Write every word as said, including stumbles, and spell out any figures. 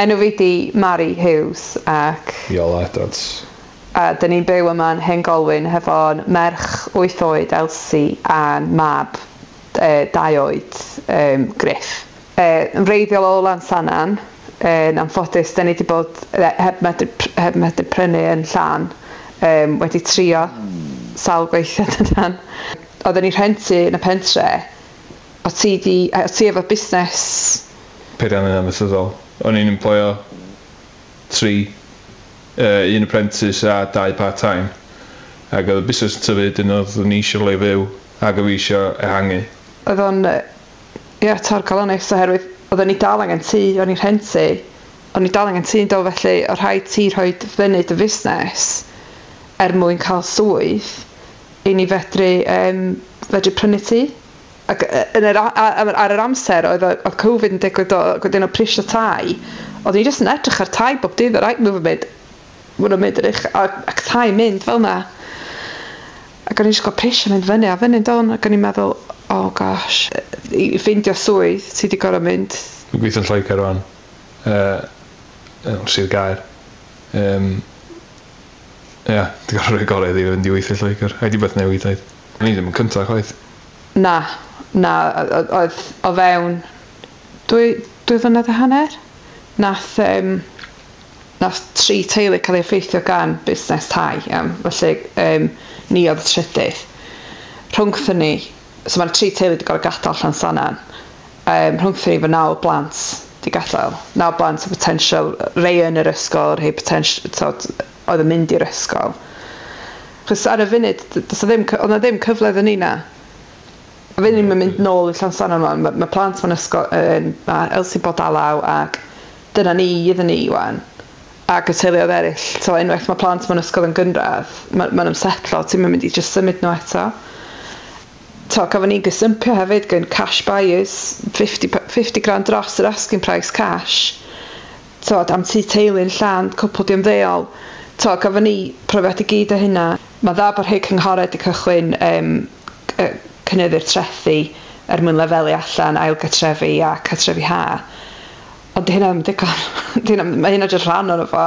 Enw fi di Mari Huws ac... Iolo Edwards. A dyn ni'n byw yma yn Hen Golwyn hefo'n merch wyth oed Elsie a'n mab e, dau oed um, Griff. E, yn wreiddiol o Lansannan, yn anffodus, dyn ni wedi bod heb medru, heb medru prynu yn Llan, um, wedi trio sawl gweithio dydan. Oedden ni rhentu yn y pentre, o ti, di, o ti efo busnes... Peiriannau amaethyddol. O'n i'n employo tri, uh, un apprentice a dau part-time. Ac oedd y busnes yn tyfu, dyn oedd ni eisiau le fyw, ac oedd fi eisiau ehangu. Oedd o'n, ie, torcalonnus oherwydd oedden ni dal angen tŷ, o'n i'n rhentu, o'n i dal angen tŷ yn do, felly o rhaid ti rhoi fyny dy fusnes er mwyn cael swydd i ni fedru, um, fedru prynu tŷ. Ac yn yr, ar, ar yr amser oedd, oedd Covid yn digwydd, oedd wedyn o prisio tai, oedd ni jyst yn edrych ar tai bob dydd, right, move yn mynd, maen nhw'n mynd yn uch, ac, ac tai mynd fel na. Ac o'n i jyst gweld prisio mynd fyny a fyny don, ac o'n i'n meddwl, oh gosh, i ffeindio swydd, ti wedi gorfod mynd. Dwi'n gweithio'n Lloegr rwan, uh, Sir Gaer. Um, Ie, yeah, dwi'n gorfod rhoi gorau iddi fynd i weithio Lloegr. A di beth newid oedd. Ni ddim yn cyntaf chwaith. Na, na, oedd o fewn dwy, dwy flynedd a hanner. Nath, um, nath tri teulu cael ei effeithio gan busnes tai, iawn. Felly um, ni oedd y trydydd. Rhwngthyn ni, so mae'r tri teulu wedi gorfod gadael Llansannan. Um, rhwngthyn ni fo naw blant wedi gadael. Naw blant o potential, rei yn yr ysgol, rhai potential, tod, oedd yn mynd i'r ysgol. Chos ar y funud, does ddim, oedd na ddim cyfle iddyn ni na. A funud ni'n mynd nôl i Llansannan wan, mae ma plant mewn ysgol, yn, mae Elsie bod alaw ac dyna ni iddyn ni wan. Ac y teuluoedd eraill, so unwaith mae plant mewn ysgol yn gynradd, mae'n ma ymsetlo, ti'n mynd i just symud nhw eto. To, gafon ni'n gysympio hefyd gan cash buyers, fifty, fifty grand dros yr asking price cash. To, am tŷ teulu'n Llan, cwpl di ymddeol. To, gafon ni profiad i gyd o hynna. Mae dda bod rhai cynghorau wedi cychwyn um, cynyddu'r trethi er mwyn lefelu allan ail gartrefi a cartrefi ha. Ond di hynna ddim digon. Di hynna, mae hynna jyst rhan ohono fo.